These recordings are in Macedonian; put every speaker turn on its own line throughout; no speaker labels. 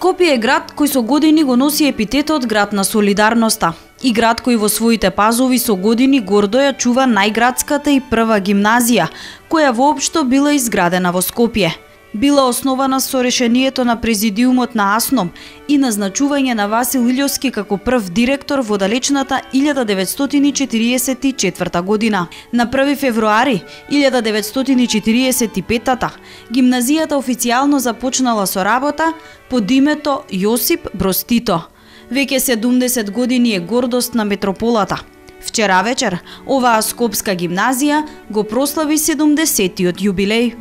Скопје е град кој со години го носи епитетот град на солидарноста и град кој во своите пазови со години гордо ја чува најградската и прва гимназија, која воопшто била изградена во Скопје. Била основана со решението на президиумот на АСНОМ и назначување на Васил Илјовски како прв директор во далечната 1944 година. На 1 февруари 1945 гимназијата официјално започнала со работа под името Јосип Броз Тито. Веќе 70 години е гордост на метрополата. Вчера вечер оваа скопска гимназија го прослави 70-тиот јубилеј.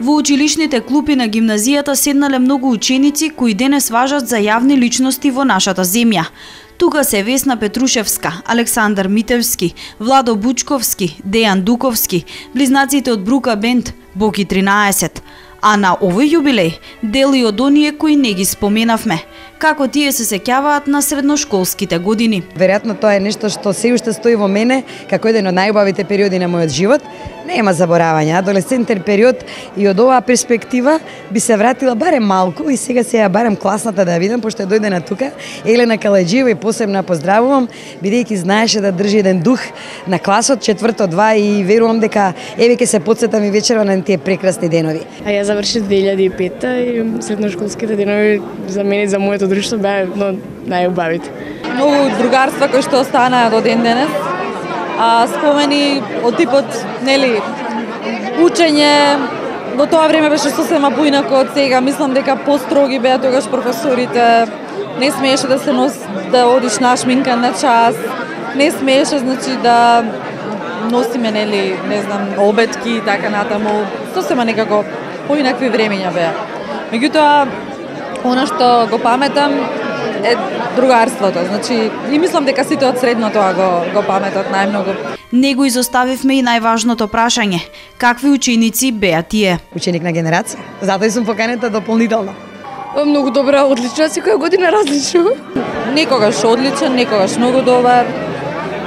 Во училишните клупи на гимназијата седнале многу ученици кои денес важат за јавни личности во нашата земја. Тука се Весна Петрушевска, Александар Митевски, Владо Бучковски, Дејан Дуковски, близнаците од Брука Бенд, Боки 13. А на овој јубилеј дели од оние кои не ги споменавме, како тие се сеќаваат на средношколските години.
Веројатно тоа е нешто што се уште стои во мене како еден од најубавите периоди на мојот живот. Нема заборавање, адолесцентен период и од оваа перспектива би се вратила барем малку и сега се ја барем класната да ја видам, пошто ја дојде на тука. Елена Калаџиева и посебно поздравувам, бидејќи знаеше да држи еден дух на класот, четврто 2 и верувам дека еве ќе се потсетам и вечерва на тие прекрасни денови.
А ја завршив 2005 и средношколските денови за мене и за моето друштво беа најубавите.
Многу другарства кои што останаа до ден денес. Спомени од типот, нели, учење, во тоа време беше сосема поинако од сега. Мислам дека построги беа тогаш професорите. Не смееше да се да одиш нашминкан на час. Не смееше, значи, да носиме, нели, не знам, обетки и така натаму. Сосема некако поинакви времења беа. Меѓутоа, она што го паметам е другарството. Значи, и мислам дека сите од средно тоа го паметат најмногу.
Не го изоставивме и најважното прашање. Какви ученици беа тие?
Ученик на генерација. Затоа и сум поканета дополнително.
Многу добра, одлична, секоја година различно.
Некогаш одличен, некогаш многу добар.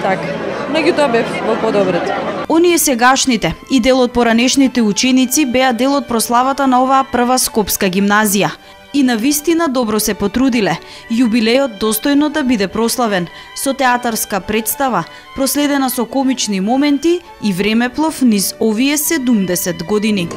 Така. Меѓутоа бев во подобрите.
Оние сегашните и дел од поранешните ученици беа дел од прославата на оваа прва скопска гимназија. И навистина добро се потрудиле, јубилејот достојно да биде прославен, со театарска представа, проследена со комични моменти и времеплов низ овие 70 години.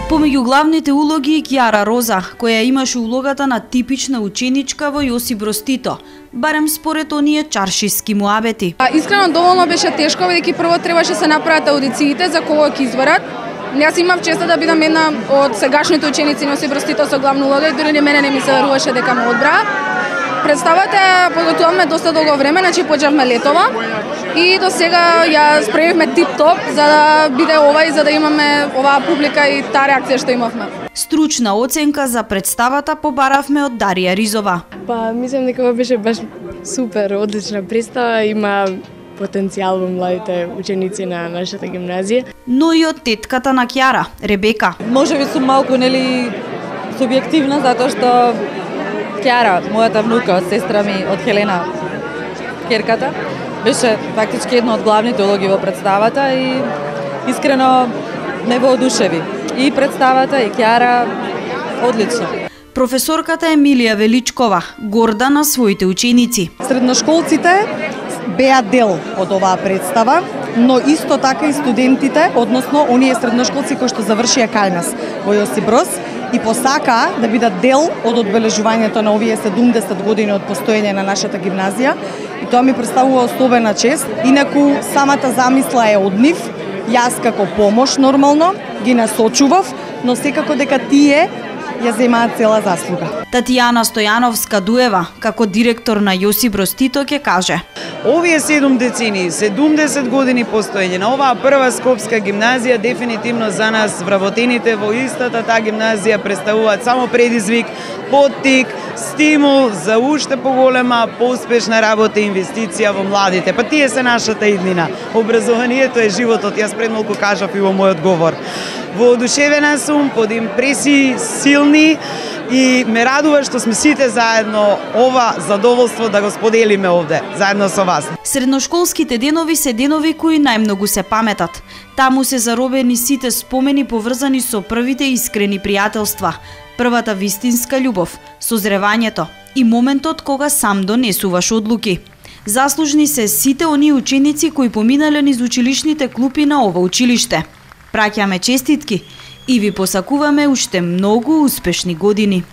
Помеѓу главните улоги и Кјара Роза, која имаше улогата на типична ученичка во Јосип Броз Тито, барем според оние чаршиски муабети.
Искрено доволно беше тешко, бидејќи прво требаше се направат аудициите за кого ќе изберат. Јас имав честа да бидам една од сегашните ученици на Јосип Броз Тито со главна улога и дури ни мене не ми се веруваше дека ме одбра. Представата подготвувавме доста долго време, значи почнавме летова и до сега ја спремивме тип-топ за да биде ова и за да имаме оваа публика и таа реакција што имавме.
Стручна оценка за представата побаравме од Дарија Ризова.
Мислам дека ова беше баш супер, одлична представа, има потенцијал во младите ученици на нашата гимназија.
Но и од тетката на Кјара, Ребека.
Можеби сум малку, нели, субјективна, затоа што Кјара, мојата внука, сестра ми од Хелена, керката, беше фактички една од главните улоги во представата и искрено ме воодушеви. И представата, и Кјара, одлично.
Професорката Емилија Величкова, горда на своите ученици.
Средношколците беа дел од оваа представа, но исто така и студентите, односно оние средношколци кои што завршија кај нас во Јосип Броз и посакаа да бидат дел од одбележувањето на овие 70 години од постоење на нашата гимназија и тоа ми представува особена чест. Инаку самата замисла е од нив, јас како помош нормално ги насочував, но секако дека тие ја земаат цела заслуга.
Татјана Стојановска-Дуева, како директор на Јосип Броз Тито, ќе каже:
Овие 7 децении, 70 години постоење на оваа прва скопска гимназија, дефинитивно за нас вработените во истата таа гимназија представуваат само предизвик, поттик, стимул за уште поголема, поуспешна работа и инвестиција во младите. Па тие се нашата иднина. Образованието е животот, јас пред малку кажав и во мојот говор. Воодушевена сум, под импресии силни и ме радува што сме сите заедно ова задоволство да го споделиме овде, заедно со вас.
Средношколските денови се денови кои најмногу се паметат. Таму се заробени сите спомени поврзани со првите искрени пријателства, првата вистинска љубов, созревањето и моментот кога сам донесуваш одлуки. Заслужни се сите оние ученици кои поминале низ училишните клупи на ова училиште. Праќаме честитки и ви посакуваме уште многу успешни години.